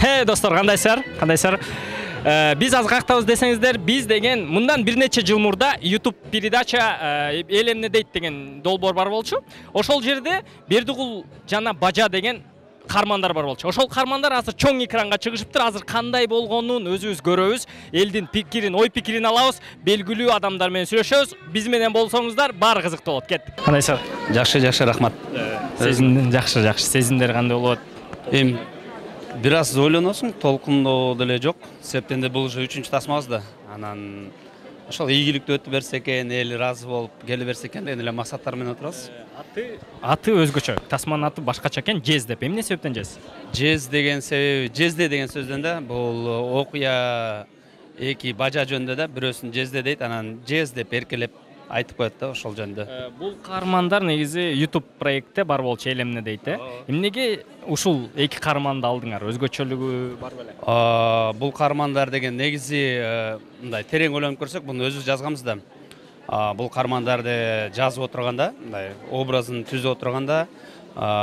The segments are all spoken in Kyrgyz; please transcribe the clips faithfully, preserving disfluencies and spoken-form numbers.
Хей достор, кандайсыздар? Кандайсыздар? Биз аз кактабыз десеңиздер, биз деген мындан бир нече жыл мурда YouTube передача эл эмне дейт деген долбоор бар болчу. Ошол жерде Бердигул жана Бажа деген кармандар бар болчу. Ошол кармандар азыр чоң экранга чыгышыптыр. Азыр кандай болгонун өзүбүз көрөбүз. Элдин пикирин, ой пикирин алабыз. Белгилүү адамдар менен сүйлөшөбүз. Биз менен болсоңуздар, баары кызыктуу болот. Кеттик. Кандайсыздар? Жакшы, жакшы, рахмат. Сезимдер жакшы, жакшы. Сезимдер кандай болот? Эми бир аз ойлоносуң, толкундоо деле жок. Себептен де бул уже үчүнчү тасмабыз да. Анан ошол ийгиликтүү өтүп берсе экен, эл ыраазы болуп келе берсе экен деген эле максаттар менен отурабыз. Аты аты өзгөчө. Тасманын аты башкача экен, Жез деп. Эмне себептен Жез? Жез деген себеби, Жезде деген сөздөн да, бул окуя эки бажа жөнүндө да, бирөөсүн Жезде дейт, анан Жез деп эркелеп айтып коет да, ошол жөнүндө. Бул каармандар негизи YouTube проектте бар болчу, эл эмне дейт, э? Эмнеге ушул эки каарманды алдыңар? Өзгөчөлүгү бар беле? Бул каармандар деген негизи мындай терең ойлонуп көрсөк, буну өзүбүз жазганбыз да. Бул каармандарды жазып отурганда, мындай образын түзүп отурганда,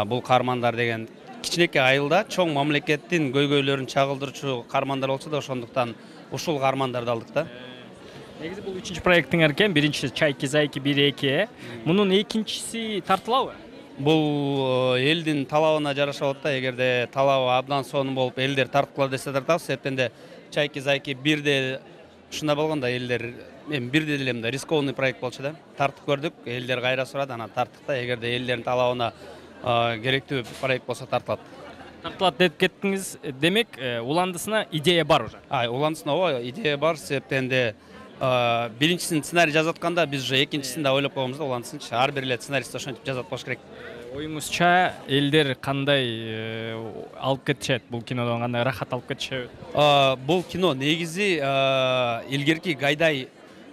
бул каармандар деген кичинекей айылда чоң мамлекеттин көйгөйлөрүн чагылдырчу каармандар болчу да, ошондуктан ушул каармандарды алдык да. Негизи бул үчүнчү проекттиңер экен, биринчиси Чайки Зайки бир эки. Мунун экинчиси тартылабы? Бул элдин талабына жараша болот да. Эгерде талабы абдан сонун болуп, элдер тарткыла десе тартабыз. Себептен де Чайки Зайки бирде ушундай болгондо элдер эми бирде деле мындай рискованный проект болчу да. Тартып көрдүк, элдер кайра сурады, анан тарттык да. Эгерде элдердин талабына керектүү проект болсо тартылат. Тартылат деп кеттиңиз, демек уландысына идея бар уже. А, уландысына ооба, идея бар. Себептен де биринчисин сценарий жазып атканда биз уже экинчисин да ойлоп койгонбуз да, уландысынчы. Ар бир эле сценарист ошентип жазат болуш керек. Оюңузча элдер кандай алып кетишет? Бул кинодон кандай рахат алып кетишет? Бул кино негизи илгерки Гайдай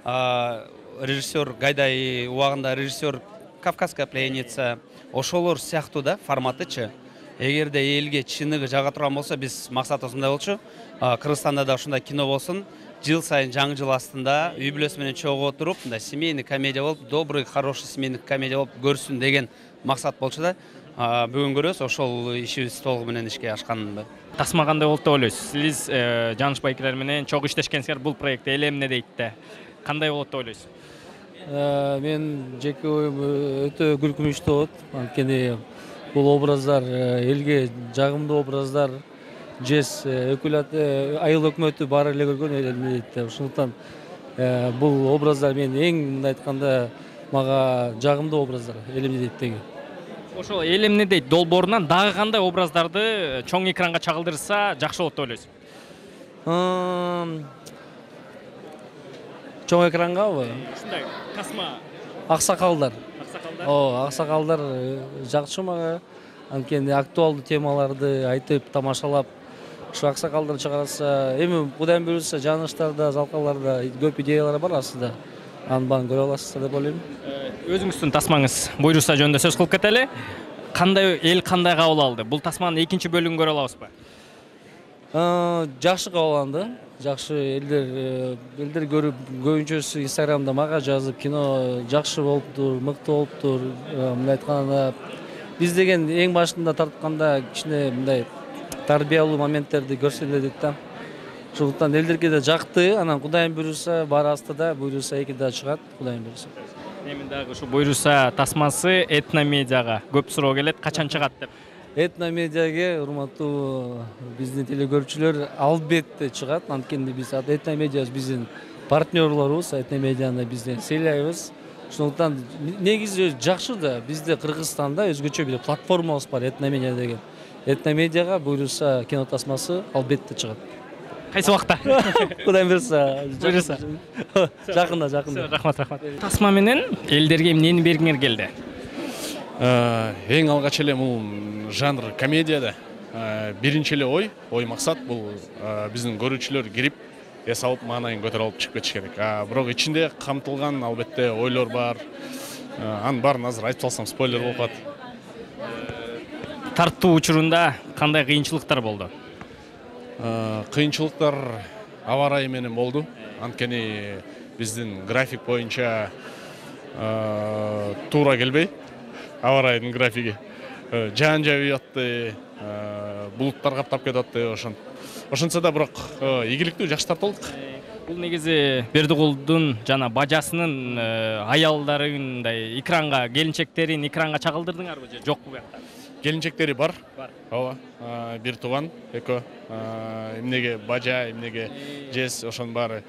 режиссер, Гайдай убагында режиссер, Кавказская пленница, ошолор сыяктуу да форматычы. Эгерде элге чыныгы жага турган болсо, биз максатыбыз мындай болчу. Кыргызстанда да ушундай кино болсун. Жыл сайын жаңы жыл астында үй бүлөсү менен чогуу отуруп, мындай семейный комедия болуп, добрый, хороший семейный комедия болуп көрсүн деген максат болчу да. Бүгүн көрөбүз, ошол ишибиз толугу менен ишке ашканды. Тасма кандай болот деп ойлойсуз? Сиз Жаныш Байкелер менен чогуу иштешкенсиңер бул проектте, эл эмне дейт да. Кандай болот деп ойлойсуз? Мен жеке оюм өтө күлкүнүчтүү болот. Анткени бул образдар элге жагымдуу образдар. Жез айыл өкмөтү баары эле көргөн эл эмне дейт. Ошондуктан бул образдар мен эң мындай айтканда мага жагымдуу образдар, эл эмне дейт деген. Ошол эл эмне дейт долбоорунан дагы кандай образдарды чоң экранга чагылдырса жакшы болот деп ойлойсуз? Чоң экрангабы? Ушундай тасма. Аксакалдар. Аксакалдар. О, аксакалдар жакшы мага. Анткени актуалдуу темаларды айтып, тамашалап, ушу аксакалдар чыгарса, эми кудайым буйруса, Жаныштарда, Залкаларда көп идеялар бар астында. Аны баарын көрө аласыздар деп ойлойм. Өзүңүздүн тасмаңыз буйруса жөнүндө сөз кылып кетели. Кандай эл кандай кабыл алды? Бул тасманын экинчи бөлүгүн көрө алабызбы? Жакшы кабыл алынды. Жакшы элдер элдер көрүп, көбүнчөсү Инстаграмда мага жазып, кино жакшы болуптур, мыктуу болуптур. Мындай айтканда, биз деген эң башында тартканда кичине мындай тарбиялуу моменттерди көрсөлө дейт да. Ошондуктан элдерге да жакты, анан кудайым буйруса, баары астыда, буйруса эки да чыгат, кудайым буйруса. Эми дагы ушу буйруса тасмасы этномедиага көп суроо келет, качан чыгат деп. Этномедиага урматтуу биздин телекөрүүчүлөр албетте чыгат. Анткени биз этномедиа биздин партнерлорубуз, этномедианы бизден сыйлайбыз. Ошондуктан негизи жакшы да, бизде Кыргызстанда өзгөчө бир платформабыз бар, этномедиа деген. Этномедиага буйруса кино тасмасы албетте чыгат. Кайсы убакта? Кудайым буйруса. Буйруса. Жакында, жакында. Рахмат, рахмат. Тасма менен элдерге эмнени бергиңер келди? Эң алгач эле бул жанр комедияда биринчи эле ой, ой максат бул биздин көрүүчүлөр кирип, эс алып, маанайын көтөрүп алып чыгып кетиш керек. Бирок ичинде камтылган албетте ойлор бар. Анын баарын азыр айтып салсам спойлер болуп калат. Тартуу учурунда кандай кыйынчылыктар болду? Кыйынчылыктар аба ырайы менен болду. Анткени биздин график боюнча туура келбей, аба ырайынын графиги. жаан жаабый атты, булуттар каптап кетип атты, ошон ошентсе да бирок ийгиликтүү жакшы тартып алдык. Бул негизи Бердигулдун жана бажасынын аялдарындай экранга, келинчектерин экранга чагылдырдыңарбы же жокпу буякта? Келинчектери бар. Бар. Ооба. Бир тууган, экөө. Эмнеге бажа, эмнеге жез, ошонун баары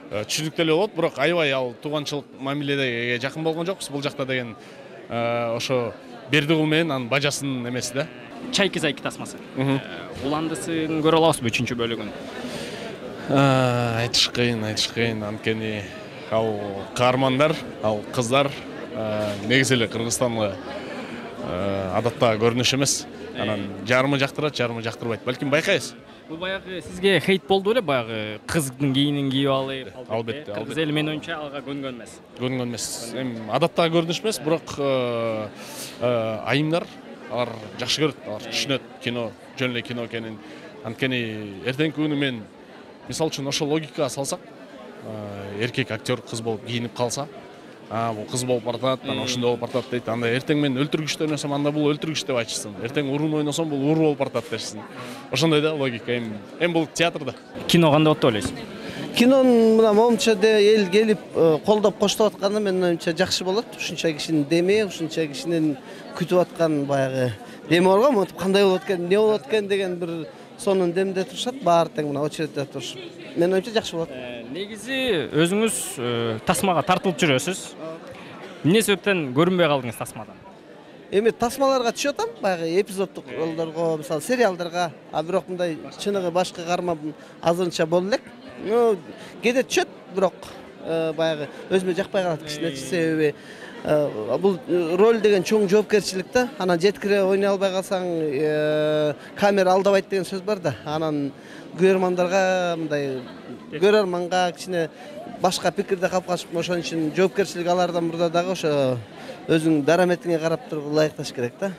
түшүнүктүү эле болот, бирок аябай ал тууганчылык мамилеге жакын болгон жокпуз. Бул жакта деген ошо Бердигул менен анын бажасынын эмеси да. Чайки зайки тасмасы. Уландысын көрө алабызбы үчүнчү бөлүгүн? Айтыш кыйын, айтыш кыйын. Анткени ал каармандар, ал кыздар негизи эле Кыргызстанга адатта көрүнүш эмес. Анан жарымы жактырат, жарымы жактырбайт. Балким байкайсыз. Бул баягы сизге хейт болду беле, баягы кыздын кийинин кийип алып, албетте, кыргыз эли менин оюнча алга көнгөн эмес. Көнгөн эмес. Эми адаттагы көрүнүш эмес, бирок айымдар алар жакшы көрөт, алар түшүнөт кино, жөн эле кино экенин. Анткени эртеңки күнү мен мисалы үчүн ошол логикага салсак, эркек актер кыз болуп кийинип калса, а бул кыз болуп бартат, анан ошондой болуп бартат дейт. Анда эртең мен өлтүргүчтү ойносом, анда бул өлтүргүч деп айтышсын. Эртең урун ойносом, бул уру болуп бартат дешсин. Ошондой да логика. Эми эми бул театрда. Кино кандай болот деп ойлойсуз? Кинонун мына момунча эл келип колдоп коштоп атканы менин оюмча жакшы болот. Ушунча кишинин деми, ушунча кишинин күтүп аткан баягы деми бар го, монтип кандай болот экен, эмне болот экен деген бир сонун демде турушат. Баары тең мына очередде турушуп. Менин оюмча жакшы болот. Негизи өзүңүз тасмага тартылып жүрөсүз. Эмне себептен көрүнбөй калдыңыз тасмадан? Эми тасмаларга түшүп атам, баягы эпизоддук ролдорго, мисалы сериалдарга, а бирок мындай чыныгы башкы карма азырынча боло элек. Ну, кээде түшөт, бирок баягы өзүмө жакпай калат кичине, себеби бул роль деген чоң жоопкерчилик да. Анан жеткире ойной албай калсаң камера алдабайт деген сөз бар да. Анан көрөрмандарга мындай көрөрманга кичине башка пикирде калып калышып, ошон үчүн жоопкерчилик алардан мурда дагы ошо өзүң дараметиңе карап туруп ылайыкташ керек да.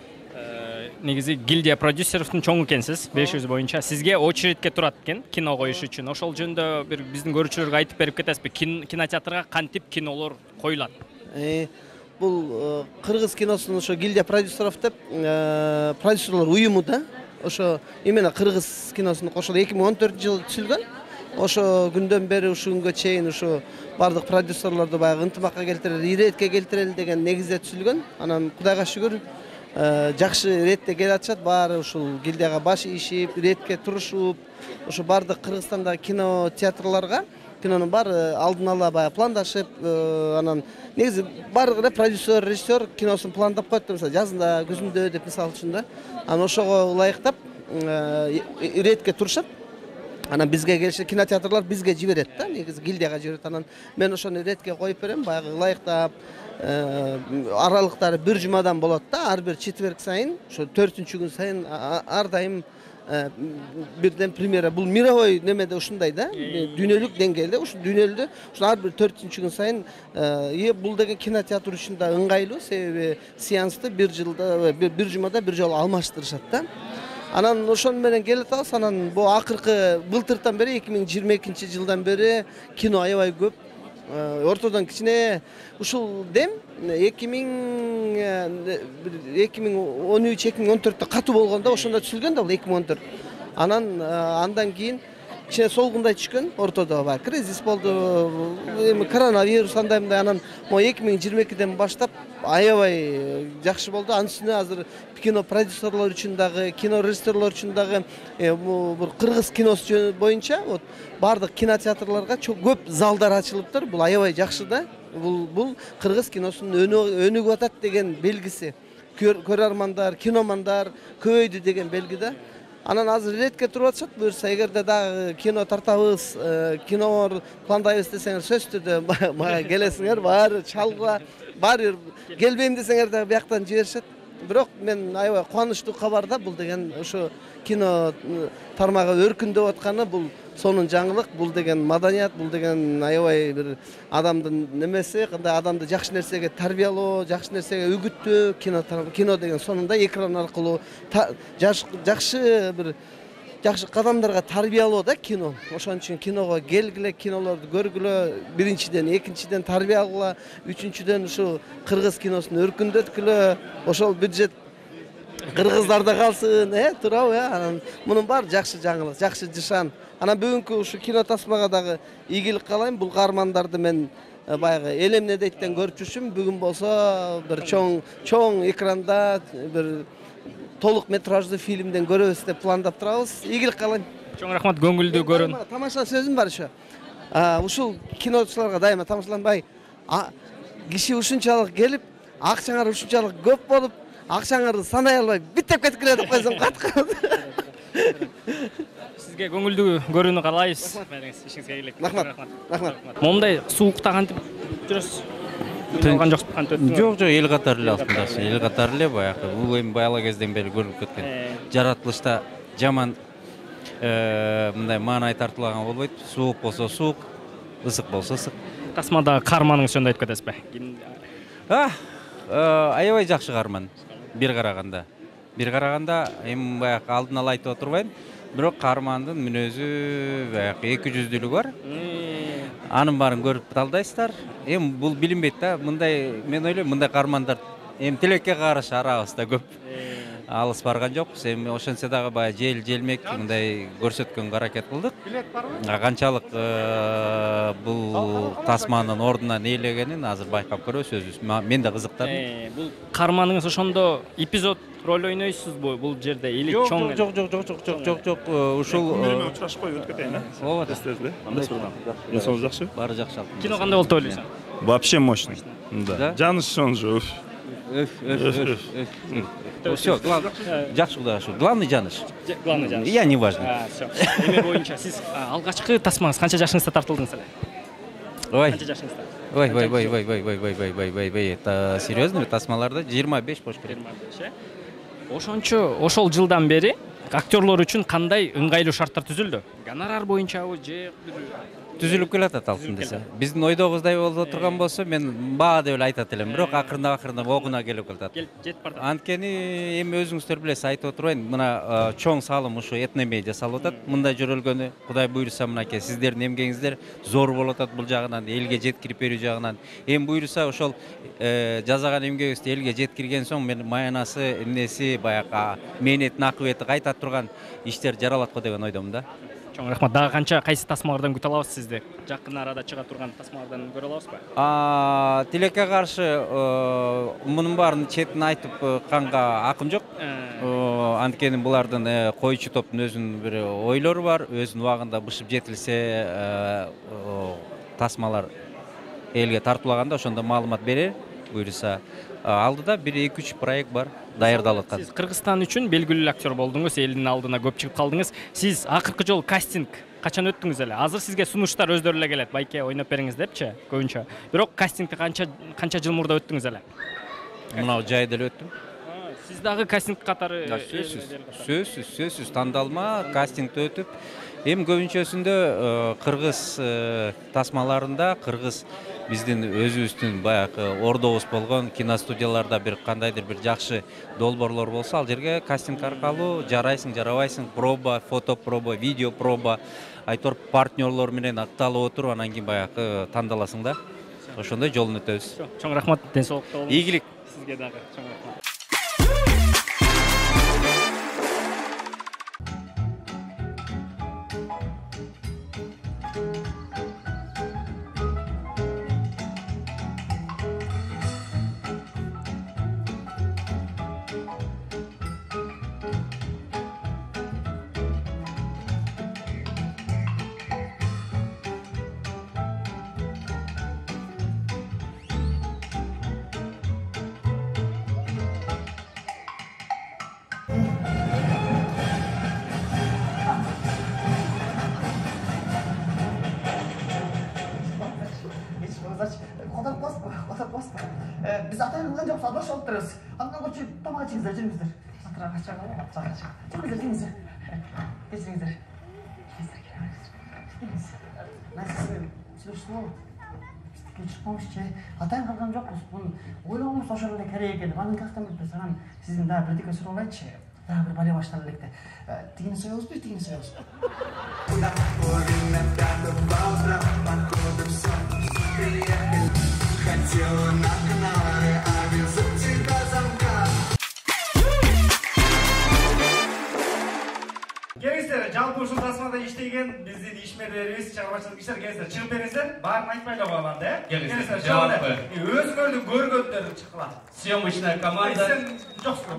Негизи гильдия продюсеровдун чоңу экенсиз, беш жүз боюнча. Сизге очередке турат экен кино коюш үчүн. Ошол жөнүндө бир биздин көрүүчүлөргө айтып берип кетесизби? Кинотеатрга кантип кинолор коюлат? Бул кыргыз киносунун ошо гильдия продюсеров деп продюсерлор уюму да. Ошо именно кыргыз киносуну кошулуп эки миң он төртүнчү жылы түзүлгөн. Ошо күндөн бери ушул күнгө чейин ушу бардык продюсерлорду баягы ынтымакка келтирели, иретке келтирели деген негизде түзүлгөн. Анан Кудайга шүгүр жакшы иретте келе атышат. Баары ушул гильдияга баш ийишип, иретке турушуп, ошо бардык Кыргызстандагы кино театрларга кинонун баары алдын ала баягы пландашып, анан негизи баардык эле продюсер, режиссер киносун пландап коет, мисалы жазында, күзүндө деп мисалы үчүн да. Анан ошого ылайыктап иретке турушат. Анан бизге келишет, кинотеатрлар бизге жиберет да, негизи гильдияга жиберет. Анан мен ошону иретке коюп берем, баягы ылайыктап, аралыктары бир жумадан болот да, ар бир четверг сайын, ошо төртүнчү күн сайын ар дайым бирден премьера. Бул мировой немеде ушундай да, дүйнөлүк деңгээлде, ушу дүйнөлдө ушу ар бир төртүнчү күн сайын бул деген кинотеатр үчүн да ыңгайлуу, себеби сеансты бир жылда, бир жумада бир жолу алмаштырышат да. Анан ошон менен келет атабыз. Анан бул акыркы былтыртан бери эки миң жыйырма экинчи жылдан бери кино аябай көп. Ортодон кичине ушул дем эки миң он үч эки миң он төрттө катуу болгондо ошондо түзүлгөн да, бул эки миң он төрт. Анан андан кийин кичине солгундай түшкөн, ортодо баягы кризис болду, эми коронавирус андай мындай. Анан могу эки миң жыйырма экиден баштап аябай жакшы болду. Анын үстүнө азыр кино продюсерлор үчүн дагы, кино режиссерлор үчүн дагы бул кыргыз киносу боюнча вот бардык кинотеатрларга көп залдар ачылыптыр. Бул аябай жакшы да. Бул бул кыргыз киносунун өнүгүп атат деген белгиси. Көрөрмандар, киномандар көбөйдү деген белги да. Анан азыр иретке туруп атышат. Буюрса, эгерде дагы кино тартабыз, кинолор пландайбыз десеңер, сөзсүз түрдө мага келесиңер, баары чалгыла, баары келбейм десеңер дагы бияктан жиберишет. Бирок мен аябай кубанычтуу кабар да, бул деген ошо кино тармагы өркүндөп атканы, бул сонун жаңылык, бул деген маданият, бул деген аябай бир адамдын немеси, кандай адамды жакшы нерсеге тарбиялоо, жакшы нерсеге үгүттөө, кино кино деген сонунда экран аркылуу жакшы бир жакшы кадамдарга тарбиялоо да кино. Ошон үчүн киного келгиле, кинолорду көргүлө, биринчиден, экинчиден тарбия алгыла, үчүнчүдөн ушу кыргыз киносун өркүндөткүлө, ошол бюджет кыргыздар да калсын, э, туурабы, э? Анан мунун баары жакшы жаңылык, жакшы жышан. Анан бүгүнкү ушу кино тасмага дагы ийгилик каалайм. Бул каармандарды мен баягы эл эмне дейттен көрүп жүрчүмүн. Бүгүн болсо бир чоң чоң экранда бир толук метраждуу фильмден көрөбүз деп пландап турабыз. Ийгилик каалайм. Чоң рахмат, көңүлдүү көрүн. Тамаша сөзүм бар ошо. Ушул киночуларга дайыма тамашаланбай, киши ушунчалык келип, акчаңар ушунчалык көп болуп, акчаңарды санай албай биттеп кеткиле деп койсом кат. Сизге көңүлдүү көрүүнү каалайбыз. Ишиңизге ийгилик. Рахмат. Рахмат. Момундай суукта кантип жүрөсүз? Алган жоксуз, кантип өттүңүз? Жок, жок, эл катары эле алып эл катары эле баягы. Бул эми бала кезден бери көрүлүп кеткен. Жаратылышта жаман мындай маанай тартылган болбойт. Суук болсо суук, ысык болсо ысык. Тасмадагы каарманыңыз жөнүндө айтып кетесизби? Аябай жакшы каарман. Бир караганда. Бир караганда эми баягы алдын ала айтып отурбайм. Бирок каармандын мүнөзү баягы эки жүздүүлүгү бар. Анын баарын көрүп талдайсыздар. Эми бул билинбейт да. Мындай мен ойлойм, мындай каармандар эми тилекке каршы арабызда көп. Алыс барган жокпуз. Эми ошентсе дагы баягы жел желмек мындай көрсөткөнгө аракет кылдык. Канчалык бул тасманын ордунан ээлегенин азыр байкап көрөбүз өзүбүз. Мен да кызыктардым. Бул каарманыңыз ошондо эпизод роль ойнойсузбу бул жерде или чоң? Жок, жок, жок, жок, жок, жок, жок. Ушул менен учурашып коюп өтүп кетейин, э? Ооба. Эстесизби? Кандай болгон? Денсаулык жакшыбы? Баары жакшы. Кино кандай болду деп ойлойсуң? Вообще мощно. Да. Жаныш он же. Өф, өф, өф. Всё, главное. Жакшы кудайга шүкүр. Главный жаныш. Главный жаныш. Я не важно. Всё. Эме боюнча сиз алгачкы тасмаңыз канча жашыңызда тартылдыңыз эле? Ой. Канча жашыңызда? Ой, ой, ой, ой, ой, ой, ой, ой, ой, ой, ой. Это серьезно? Тасмаларда жыйырма беш болуш керек. жыйырма беш, э? Ошончо ошол жылдан бери актерлор үчүн кандай ыңгайлуу шарттар түзүлдү? Гонорар боюнчабы же түзүлүп келатат алтын десе. Биздин ойдогуздай болуп турган болсо мен баа деп эле айтат элем, бирок акырындап акырындап окуна келип калат. Келип жетип бардык. Анткени эми өзүңүздөр билесиз, айтып отурбайм, мына чоң салым ушу этномедиа салып атат. Мындай жөрөлгөнү Кудай буйруса мынакей сиздердин эмгегиңиздер зор болуп атат бул жагынан, элге жеткирип берүү жагынан. Эми буйруса ошол жазаган эмгегибизди элге жеткирген соң мен маянасы, эмнеси, баягы мээнеттин акыбети кайта турган иштер жаралат го деген ойдомун да. Чоң рахмат. Дагы канча кайсы тасмалардан күтө алабыз сизди? Жакын арада чыга турган тасмалардан көрө алабызбы? А, тилекке каршы мунун баарын четин айтып канга акым жок. Анткени булардын койчу топтун өзүнүн бир ойлору бар, өзүнүн убагында бышып жетилсе тасмалар элге тартуулаганда ошондо маалымат берер. Буйруса алдыда бир эки үч проект бар, даярдалып аткан. Сиз Кыргызстан үчүн белгилүү актер болдуңуз, элдин алдына көп чыгып калдыңыз. Сиз акыркы жолу кастинг качан өттүңүз эле? Азыр сизге сунуштар өздөрү эле келет, байке ойноп бериңиз депчи, көбүнчө. Бирок кастингди канча канча жыл мурда өттүңүз эле? Мынау жайда эле өттүм. Сиз дагы кастинг катары сөзсүз, сөзсүз, сөзсүз тандалма, кастингди өтүп, эми көбүнчөсүндө кыргыз тасмаларында, кыргыз биздин өзүбүздүн баягы ордобуз болгон киностудияларда бир кандайдыр бир жакшы долбоорлор болсо, ал жерге кастинг аркылуу жарайсың, жарабайсың, проба, фото проба, видео проба, айтор партнерлор менен акталып отуруп, анан кийин баягы тандаласың да. Ошондой жолун өтөбүз. Чоң рахмат, ден соолукта болуңуз. Ийгилик. Сизге дагы чоң рахмат. Qo'tab bosma, qo'tab bosma. Biz atayotgan joq savdosh olib turibmiz. Andan ko'chib tomoq ichingizlar, jiringizlar. Atrof chaqirib, chaqirib. Jiringizlar, jiringizlar. Kechiringizlar. Men sizni tushundim. Chiqmoqchi. Atay qilgan joqmiz. Buni o'ylamoq o'shanda kerak ekan. Mani qaqtam bilsam, sizning da bir dikka so'raychi. Da bir bale boshlanlikda. Tigini so'yamiz, bir tigini so'yamiz. Хотела на канале, а везу тебя замка. келиңиздер, жалпы ушул тасмада иштеген биздин ишмерлерибиз, чыгармачылык иштер келиңиздер, чыгып бериңиздер. Баарын айтпай эле коелам да, э? Келиңиздер, жалпы өзүңөрдүн көргөндөрүн чыккыла. Съемочная команда. Жоксуң.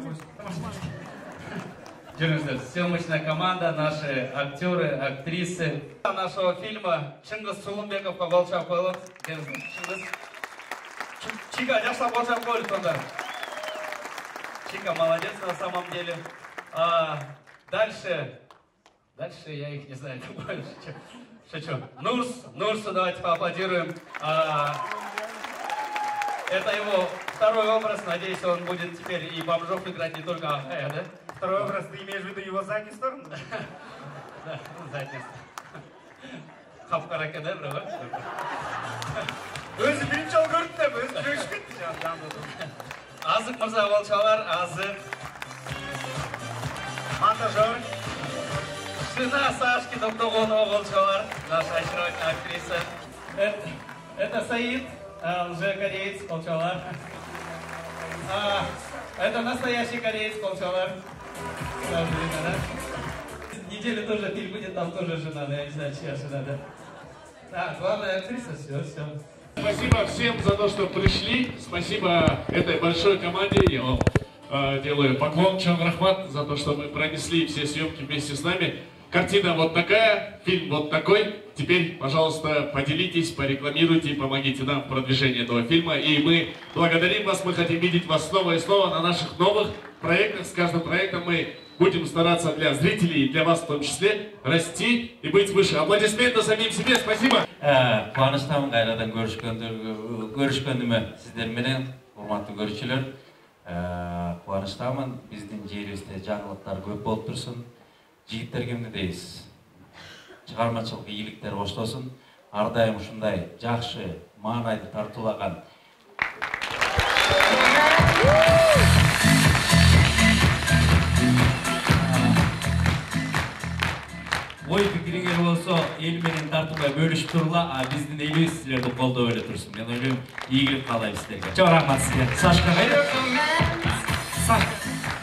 Жүріңіздер, съемочная команда, наши актеры, актрисы нашего фильма Чыңгыз Сулумбековқа қолшап қойылып. Чыңгыз. Чика, жақсылап қолшап қойылып сонда. Чика, молодец на самом деле. А, дальше, дальше я их не знаю, шучу. Нурс, Нурсу давайте поаплодируем. А, это его второй образ, надеюсь, он будет теперь и бомжов играть, не только Ахая, да? Второй образ, ты имеешь в виду его заднюю сторону? Да, заднюю сторону. Хапкара кедевра, ба? Өзі бірінші жол көрді деп, өзі көрішіп кетті. Азық мырза болчалар, Азық. Монтажер. Жена Сашки Доктогонова болчалар, наша очаровательная актриса. Это, это Саид, лже-кореец болчалар. А, это настоящий кореец болчалар. Неделю тоже фильм будет, там тоже жена, да, я не знаю, чья жена, да. А, главная актриса, все, все. Спасибо всем за то, что пришли. Спасибо этой большой команде. Я вам э, делаю поклон, Чон Рахмат, за то, что мы пронесли все съемки вместе с нами. Картина вот такая, фильм вот такой. Теперь, пожалуйста, поделитесь, порекламируйте и помогите нам в продвижении этого фильма. И мы благодарим вас, мы хотим видеть вас снова и снова на наших новых проектах. С каждым проектом мы будем стараться для зрителей и для вас в том числе расти и быть выше. Аплодисменты самим себе. Спасибо. Кубанычтамын кайрадан көрүшкөнүмө сиздер менен, урматтуу көрүүчүлөр. Кубанычтамын, биздин жерибизде жаңылыктар көп болуп турсун. Жигиттерге эмне дейсиз? Чыгармачылык ийгиликтер коштосун. Ар дайым ушундай жакшы, маанайды тартуулаган ой пикириңер болсо эл менен тартууга бөлүшүп тургула, а биздин элибиз силерди колдоп эле турсун. Мен ойлойм, ийгилик каалайм силерге. Чоң рахмат сизге. Сашка кайда?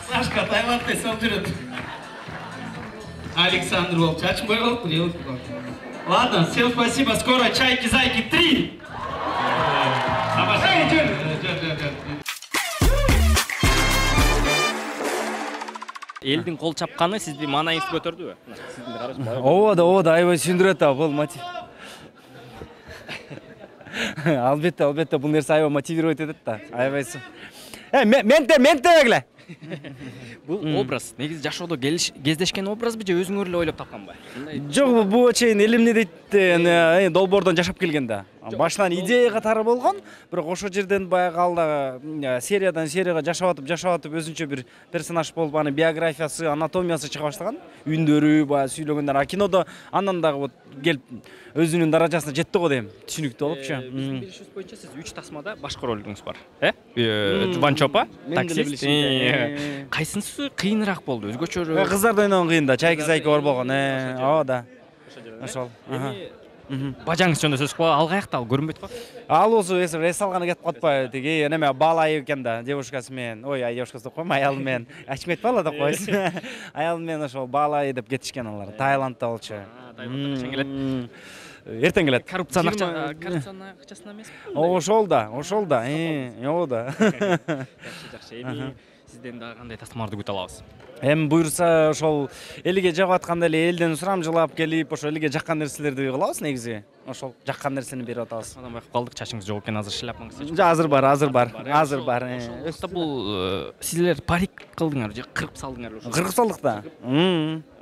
Сашка Таиландда эсеп жүрөт. Александр болуп, чачым бой болуп, делать. Ладно, всем спасибо. Скоро Чайки Зайки три. Эй, жер, жер, жер, жер. Элдин кол чапканы сизди маанайыңызды көтөрдүбү? Ооба да, ооба да, аябай сүйүндүрөт да бул мотив. Албетте, албетте бул нерсе аябай мотивировать этет да. Аябай. Э, менте, ментебегиле. Бул образ негизи жашоодо кездешкен образбы же өзүңөр эле ойлоп тапканбы? Жок, бул чейин элим эмне дейт, долбоордон жашап келген да. Башынан идея катары болгон, бирок ошол жерден баягы алда сериядан серияга жашап атып, жашап атып өзүнчө бир персонаж болуп, аны биографиясы, анатомиясы чыга баштаган. Үндөрү, баягы сүйлөгөндөр, а кинодо андан дагы вот келип өзүнүн даражасына жетти го дейм. Түшүнүктүү болупчу. Биздин билишибиз боюнча сиз үч тасмада башкы ролуңуз бар, э? Жубанчопа, таксист. Кайсынысы кыйыныраак болду? Өзгөчөрөөк? Кыздарды ойногон кыйын да, Чайки Зайки бар болгон. Э, ооба да. Ошол. Бажаңыз жөнүндө сөз кылып, ал каякта, ал көрүнбөйт го? Ал болсо эс алганы кетип калпайбы, тиги неме Балайы экен да, девушкасы менен. Ой, ай девушкасы деп койм, аялы менен. Ачмет бала деп койсун. Аялы менен ошол Балайы деп кетишкен алар. Таиландда болчу. Таиландда качан келет? Эртең келет. Коррупциянын акча, коррупциянын акчасына эмеспи? Ошол да, ошол да. Ооба да. Жакшы, жакшы. Эми сизден дагы кандай тасмаларды күтө алабыз? Эми буйрса ошол элге жагып атканда эле элден сурамжылап келип, ошол элге жаккан нерселерди кылабыз негизи. Ошол жаккан нерсени берип атабыз. Мындан байкап калдык, чачыңыз жок экен, азыр шляпаңыз. Азыр бар, азыр бар, азыр бар. Ошол бул силер парик кылдыңар же кырып салдыңар ошо? Кырып салдык да.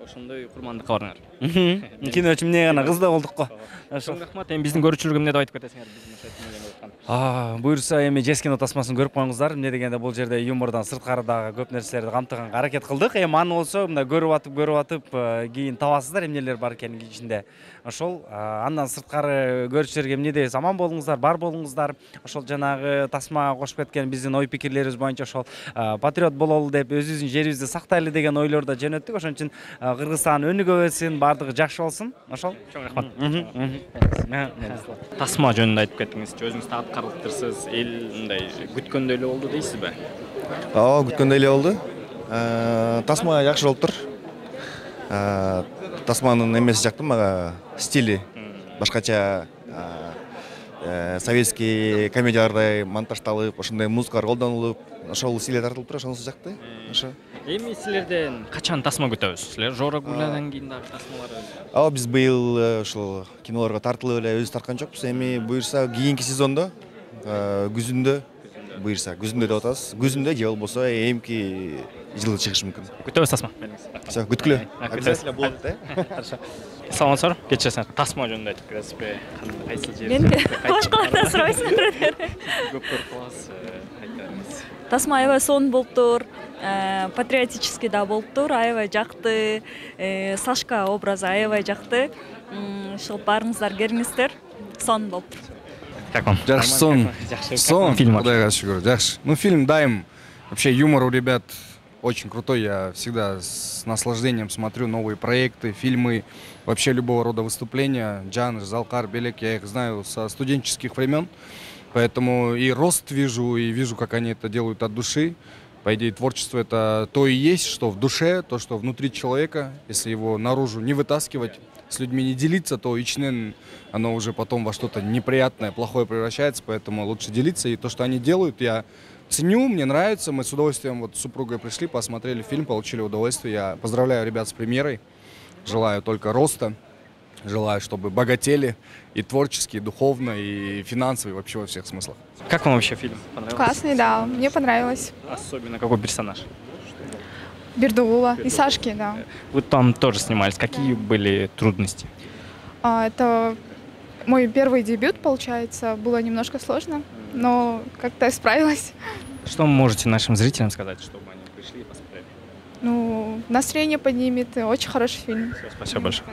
Ошондой курмандыкка бардыңар. Киночу эмне гана кыз да болдук го. Ошол рахмат. Эми биздин көрүүчүлөргө эмне деп айтып кетесиңер биздин ошо А, буйрса эми Жес кино тасмасын көрүп коюңуздар. Эмне дегенде бул жерде юмордон сырткары дагы көп нерселерди камтыганга аракет кылдык. Эми аны болсо мындай көрүп атып, көрүп атып, кийин табасыздар эмнелер бар экенин ичинде. Ошол андан сырткары көрүүчүлөргө эмне дейбиз? Аман болуңуздар, бар болуңуздар. Ошол жанагы тасмага кошуп кеткен биздин ой пикирлерибиз боюнча ошол патриот бололу деп, өзүбүздүн жерибизди сактайлы деген ойлордо жөнөттүк. Ошон үчүн Кыргызстан өнүгө берсин, бардыгы жакшы болсун. Ошол. Чоң рахмат. Тасма жөнүндө айтып кеттиңиз. Өзүңүз карлыктырсыз, эл мындай күткөндөй эле болду дейсизби? Ооба, күткөндөй эле болду. Тасма жакшы болуптур. Тасманын эмеси жакты мага, стили башкача, советский комедиялардай монтаждалып, ошондой музыкалар колдонулуп, ошол стилге тартылып туруп, ошонусу жакты. Ошо. Эми силерден качан тасма күтөбүз? Силер Жорогулдан кийин дагы тасмалар. Ооба, биз быйыл ушул кинолорго тартылып эле өзүбүз тарткан жокпуз. Эми буюрса кийинки сезондо, күзүндө, буюрса күзүндө деп атабыз. Күзүндө же болбосо эмки жылы чыгышы мүмкүн. Күтөбүз тасма. Всё, күткүлө. Обязательно болот да. Хорошо. Саламатсызбы? Кечесиң тасма жөнүндө айтып бересизби? Кайсы жер? Мен башкалардан сурабайсыңар. Көп көрүп каласыз, айтыңыз. Тасма аябай сонун болуптур, патриотический да болуптур, аябай жакты, Сашка образы аябай жакты. Ушул баарыңыздар келиңиздер, сонун болуптур. Как вам? Жакшы, сон. Сон. Фильм. Кудайга шүгүр. Жакшы. Ну, фильм дайым. Вообще юмор у ребят очень крутой. Я всегда с наслаждением смотрю новые проекты, фильмы, вообще любого рода выступления. Джан, Залкар, Белек, я их знаю со студенческих времен. Поэтому и рост вижу, и вижу, как они это делают от души. По идее, творчество — это то и есть, что в душе, то, что внутри человека. Если его наружу не вытаскивать, с людьми не делиться, то ичнен оно уже потом во что-то неприятное, плохое превращается. Поэтому лучше делиться. И то, что они делают, я ценю, мне нравится. Мы с удовольствием вот с супругой пришли, посмотрели фильм, получили удовольствие. Я поздравляю ребят с премьерой. Желаю только роста. Желаю, чтобы богатели и творчески, и духовно, и финансово, и вообще во всех смыслах. Как вам вообще фильм? Понравился? Классный, да, мне понравилось. Особенно какой персонаж? Бердугула и Сашки, да. Вы там тоже снимались. Какие были трудности? А, это мой первый дебют, получается. Было немножко сложно, но как-то справилась. Что вы можете нашим зрителям сказать, чтобы они пришли и посмотрели? Ну, настроение поднимет. Очень хороший фильм. Все, спасибо большое.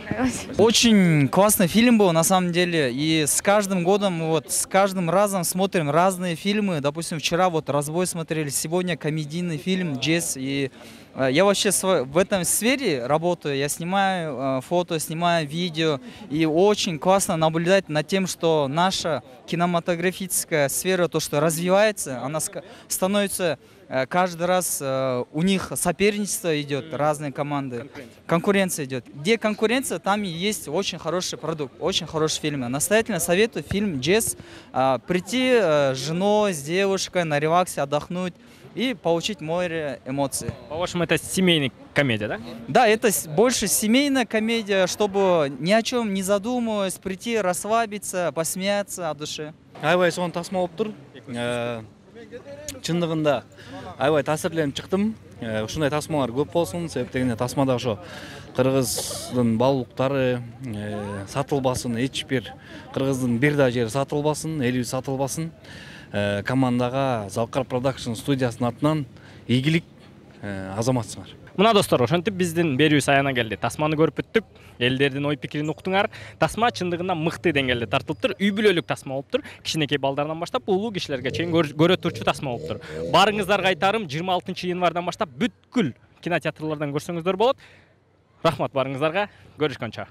Очень классный фильм был, на самом деле. И с каждым годом, вот, с каждым разом смотрим разные фильмы. Допустим, вчера вот «Разбой» смотрели, сегодня комедийный фильм «Джесс». И э, я вообще в этом сфере работаю. Я снимаю э, фото, снимаю видео. И очень классно наблюдать над тем, что наша кинематографическая сфера, то, что развивается, она становится... Каждый раз э, у них соперничество идет, разные команды. Конкуренция. Конкуренция идет. Где конкуренция, там и есть очень хороший продукт, очень хороший фильм. Настоятельно советую фильм «Джесс». Э, прийти э, с женой, с девушкой на релаксе, отдохнуть и получить море эмоций. По-вашему, это семейная комедия, да? Да, это больше семейная комедия, чтобы ни о чем не задумываясь, прийти, расслабиться, посмеяться от души. Аябай сонун тасма болуптур. Чындыгында аябай таасирленип чыктым. Ушундай тасмалар көп болсун, себеп дегенде тасмада ошо кыргыздын баалуулуктары сатылбасын, эч бир кыргыздын бир да жери сатылбасын, элибиз сатылбасын. Командага Залкар Продакшн студиясынын атынан ийгилик, азаматсыңар. Мына достор, ошентип биздин берүүбүз аяна келди. Тасманы көрүп бүттүк. Элдердин ой пикирин уктуңар. Тасма чындыгында мыкты деңгээлде тартылыптыр. Үй бүлөлүк тасма болуптур. Кичинекей балдардан баштап улуу кишилерге чейин көрө турчу тасма болуптур. Барыңыздарга айтарым, жыйырма алтынчы январдан баштап бүткүл кинотеатрлардан көрсөңүздөр болот. Рахмат барыңыздарга. Көрүшкөнчө.